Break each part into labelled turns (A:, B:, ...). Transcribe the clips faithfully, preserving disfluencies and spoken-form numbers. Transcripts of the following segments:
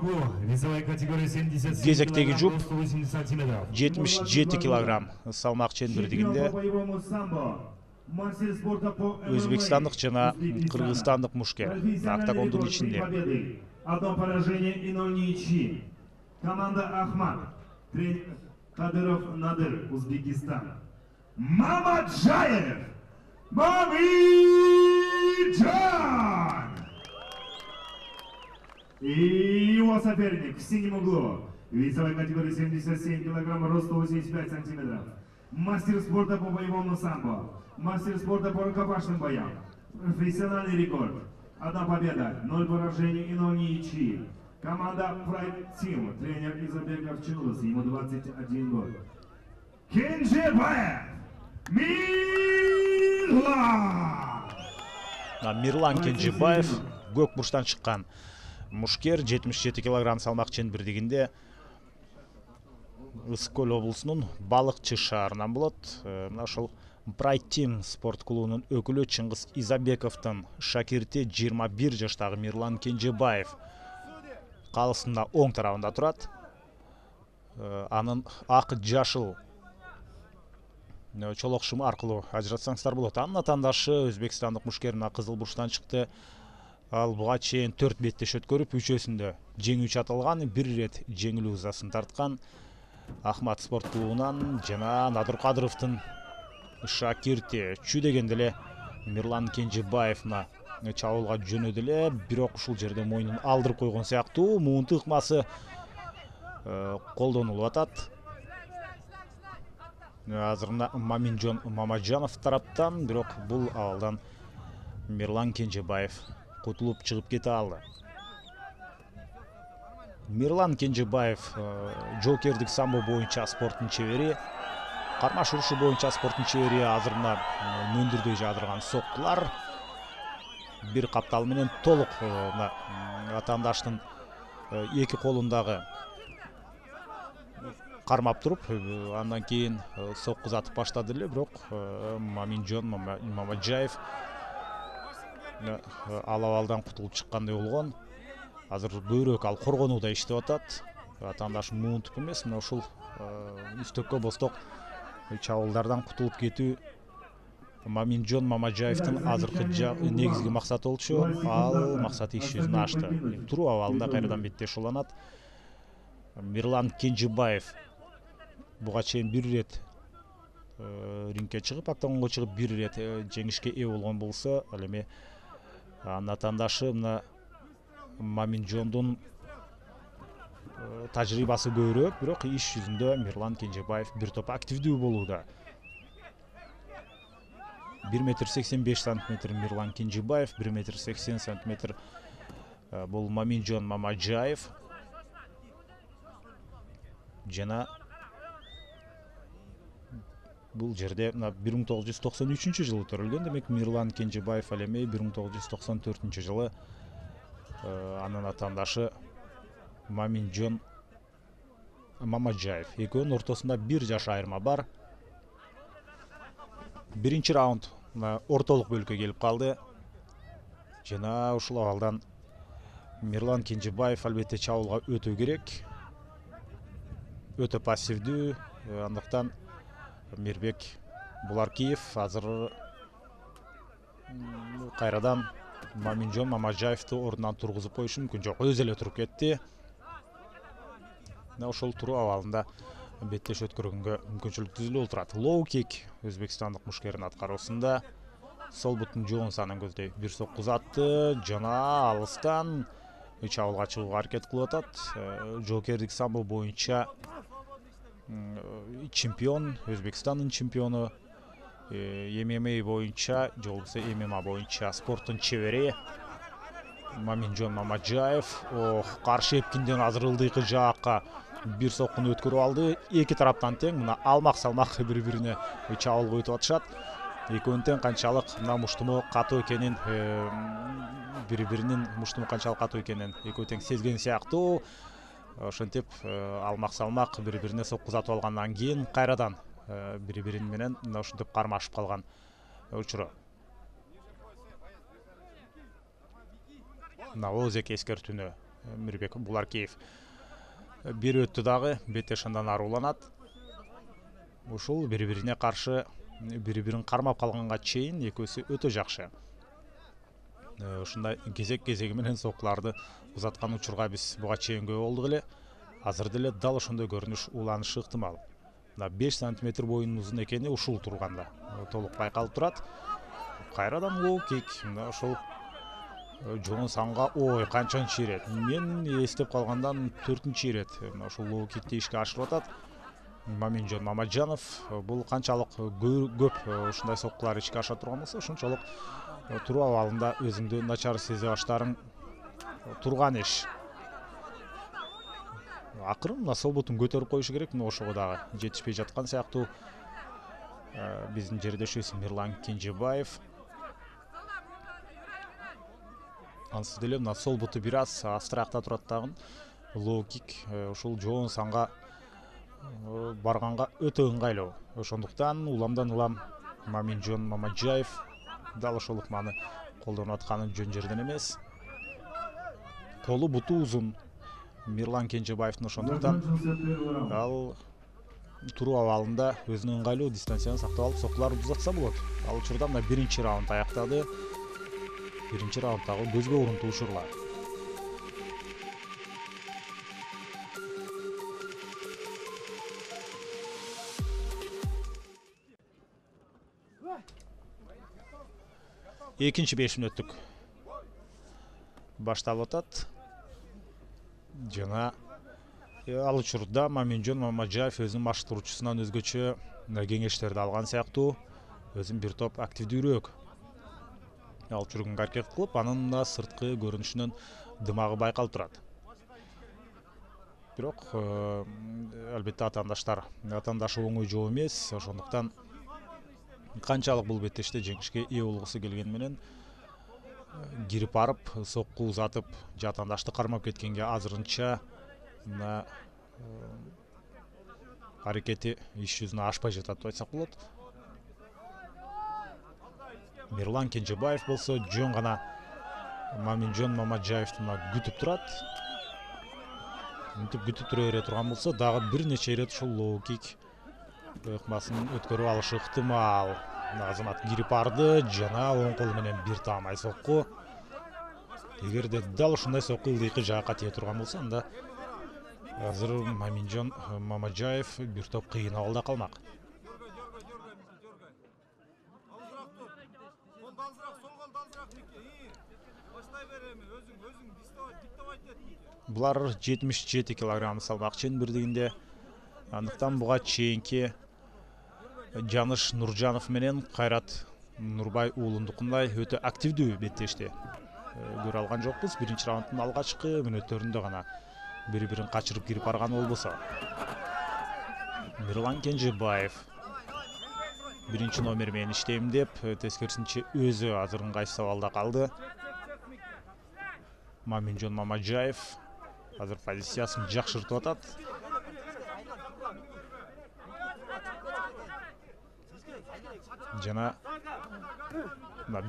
A: Весовая категория семьдесят семь
B: кезектеги
A: килограмм,
B: жұп
A: рост сто восемьдесят сантиметров.
B: жетимиш жети килограмм салмак чендирдигинде өзбекстандык жана кыргызстандык мушкер октагондун ичинде.
A: Одно поражение и ноль ничьи. Команда Ахмат. Тренер Кадыров Надыр, Узбекистан. Мамаджаев. Мамиджан. И его соперник в синем углу. Весовая категория семьдесят семь килограмм, рост сто восемьдесят пять сантиметров. Мастер спорта по боевому самбо. Мастер спорта по рукопашным боям. Профессиональный рекорд. Одна победа, ноль поражений и ноль ничьи. Команда Pride Team. Тренер Изабеков Чулус, ему двадцать один год. Кенжебаев Мирлан.
B: Мирлан Кенжебаев көк бурчтан чыккан мушкер, жетимиш жети килограмм салмак чендирдигинде. Ысык Көл облусунун Балыкчы шаарынан болот. Мына ошол Pride Team спорт клубунун өкүлү Чыңгыз Изабековдун шакирти жыйырма бир жаштагы Мирлан Кенжебаев калысында оң тарабында турат. Анын ак жашыл чолок шымы аркылуу ажыратсаңыздар болот. Анын атаандашы өзбекстандык мушкер мына кызыл бурчтан чыкты. Ал буга чейин төрт беттеш өткөрүп, үчөөсүндө жеңүүчү аталган, бир ирет жеңилүү ызасын тарткан. Ахмат спорт клубунан жана Надыр Кадыровдун шакирти чү дегенде эле Мирлан Кенжебаевна чабуулга жөнөдү эле, бирок ушул жерде мойнун алдырып койгон сыяктуу. Муунту ыкмасы колдонулуп атат. Азыр Маминжон Мамаджанов тараптан, бирок бул абалдан Мирлан Кенжебаев кутулуп чыгып кете алды. Мирлан Кенжебаев жокердик самбо боюнча спорттун чебери, кармаш урушу боюнча спорттун чебери. Азыр мына мөндүрдөй жаадырган соккулар бир каптал менен толук атаандаштын эки колундагы кармап туруп, андан кийин сокку затып баштады эле, бирок Маминжон Мамаджаев ал абалдан кутулуп чыккандай болгон. Азыр көбүрөөк ал коргонууда иштеп атат. Атаандаш муунтуп эмес, мына ушул үстөккө босток чабуулдардан кутулуп кетүү Маминжон Мамаджаевдин азыркы негизги максаты болчу. Ал максаты иш жүзүнө ашты. Туруу абалында кайрадан беттеш уланат. Мирлан Кенжебаев буга чейин бир ирет рингке чыгып, октагонго чыгып бир ирет жеңишке ээ болгон болсо, ал эми анын атаандашы мына Маминжондун тажрыйбасы көбүрөөк, бирок иш жүзүндө Мирлан Кенжебаев бир топ активдүү болууда. бир метр сексен беш сантиметр Мирлан Кенжебаев, бир метр сексен сантиметр бул Маминжон Мамаджаев. Жана бул жерде бир миң тогуз жүз токсон үчүнчү жылы төрөлгөн, демек Мирлан Кенжебаев ал эми бир миң тогуз жүз токсон төртүнчү жылы анын атаандашы Маминжон Мамаджаев. Экөөнүн ортосунда бир жаш айырма бар. Биринчи раунд ортолук бөлүккө келип калды. Жана ушул абалдан Мирлан Кенжебаев албетте чабуулга өтө керек. Өтө пассивдүү, андыктан Мирбек Буларкиев азыр кайрадан Маминжон Мамаджаевди ордунан тургузуп коюшу мүмкүн. Жок, өзү эле туруп кетти. Ошол туруу абалында беттеш өткөргөнгө мүмкүнчүлүк түзүлүп турат. Лоу кик өзбекстандык мушкердин аткаруусунда. Сол буттун жоон санын көздөй бир сокку uzatты, жана алыстан чабуулга чыгууга аракет кылып атат. Жокердик самбо боюнча чемпион, Өзбекстандын чемпиону, эм эм а боюнча, же болбосо эм эм а боюнча спорттун чебери Маминжон Мамаджаев. Ох, каршы эпкинден азыр ылдыйкы жаакка бир соккуну өткөрүп алды. Эки тараптан тең, мына алмак салмак бири-бирине чабуулга өтүп атышат. Экөөнүн тең канчалык мына муштуму катуу экенин, бири-биринин муштуму канчалык катуу экенин экөө тең сезген сыяктуу. Ошентип алмак салмак бири-бирине сокку затып алгандан кийин кайрадан бири-бирин менен мына ушинтип кармашып калган учуру. Мына озек эскертүүнү Мирбек Буларкеев бир өттү дагы, Бетеш андан аруланат. Ушул бири-бирине каршы бири-бирин кармап калганга чейин экөөсү өтө жакшы. Ушундай кезек-кезеги менен соккуларды узаткан учурга биз буга чейин көп болдук эле. Азыр деле дал ошондой көрүнүш уланышы ыктымал. беш сантиметр боюнун узун экени ушул турганда толук байкалып турат. Кайрадан лоу кик. Мына ошол жоон санга ой канчанчы ирет. Мен эстеп калгандан төртүнчү ирет. Мына ошол лоу кикти ишке ашырып атат. Маминжон Мамаджанов бул канчалык көп ушундай соккулар ишке аша турган болсо, ошончолук туруу абалында өзүңдү начар сезе баштарың турган иш. Акырын мына сол бутун көтөрүп коюшу керек, мына ошого дагы жетишпей жаткан сыяктуу биздин жердешибиз Мирлан Кенжебаев. Ансыз деле мына сол буту бир аз астыракта турат дагы. Лоу кик ушул жоон санга барганга өтө ыңгайлуу. Ошондуктан уламдан улам Маминжон Мамаджаев дал ошол ыкманы колдонуп атканы жөн жерден эмес. Колу буту узун Мирлан Кенжебаевдин, ошондуктан ал туруу абалында өзүнүн ыңгайлуу дистанцияны сактап алып соккуларды узатса болот. Ал учурда мына биринчи раунд аяктады. Биринчи раунддагы көзгө урунтуу учурлар. Экинчи беш мүнөттүк башталып атат. Жана ал учурда Маминжон Мамаджаев өзүнүн баштыруучусунан өзгөчө кеңештерди алган сыяктуу, өзүн бир топ активдүүрөөк алып жүргөнгө аракет кылып, анын да сырткы көрүнүшүнөн дымагы байкалып турат. Бирок албетте атаандаштар атаандашы оңой жоо эмес, ошондуктан канчалык бул беттеште жеңишке ээ болгусу келгени менен кирип барып, сокку узатып, жатандашты кармап кеткенге азырынча мына аракети иш жүзүнө ашпай жатат деп айтсак болот. Мирлан Кенжебаев болсо жөн гана Маминжон Мамаджаевди күтүп турат. Мынтип күтүп тура бере турган болсо, дагы бир нече ирет ушул лоу кик ыкмасын өткөрүп алышы ыктымал. Азамат кирип барды жана оң колу менен бир таамай сокку. Эгерде дал ушундай сокку ылдыйкы жакка тие турган болсо, анда азыр Маминжон Мамаджаев бир топ кыйын абалда калмак. Булар жетимиш жети килограмм салмак чен бирдигинде. Андыктан буга чейинки Жаныш Нуржанов менен Кайрат Нурбай уулундукундай өтө активдүү беттешти көрө алган жокпуз. Биринчи раунддун алгачкы мүнөттөрүндө гана бири-бирин качырып кирип барган болбосо. Мирлан Кенжебаев биринчи номер менен иштейм деп, тескерисинче өзү азыр ыңгайсыз абалда калды. Маминжон Мамаджаев азыр позициясын жакшыртып атат. Жана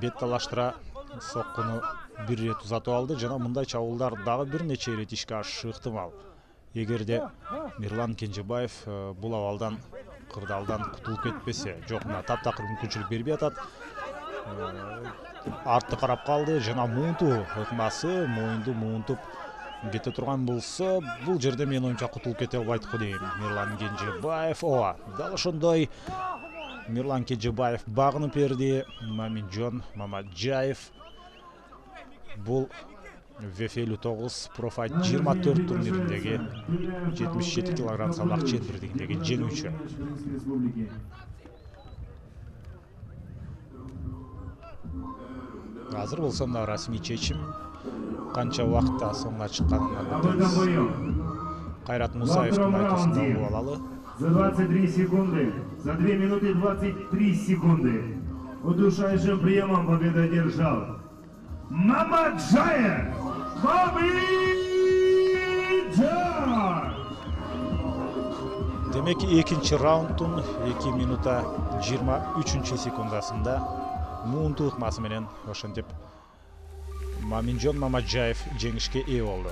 B: бет талаштыра соккуну бир ирет узатып алды. Жана мындай чабуулдар дагы бир нече ирет ишке ашышы ыктымал. Эгерде Мирлан Кенжебаев бул абалдан кырдаалдан кутулуп кетпесе, жок, мына таптакыр мүмкүнчүлүк бербей атат. Артты карап калды жана муунтуу ыкмасы моюнду муунтуп кете турган болсо, бул жерде менин оюмча кутулуп кете албайт го дейм. Мирлан Кенжебаев ооба, дал ошондой Мирлан Кенжебаев багынып берди. Маминжон Мамаджаев бул вэ эф элүү тогуз Профайт жыйырма төрт турнириндеги жетимиш жети килограмм салмак чен бирдигиндеги жеңүүчү. Азыр болсо мына расмий чечим канча убакытта соңуна чыкканын айтабыз. Кайрат Мусаевдин айтуусунда угуп алалы.
A: За двадцать три секунды, за две минуты двадцать три секунды удушающим приемом победу одержал Мамаджаев Маминжон.
B: Демек экинчи раунддун эки минута жыйырма үчүнчү секундасында муунтуу ыкмасы менен ошентип Маминжон Мамаджаев жеңишке ээ болду.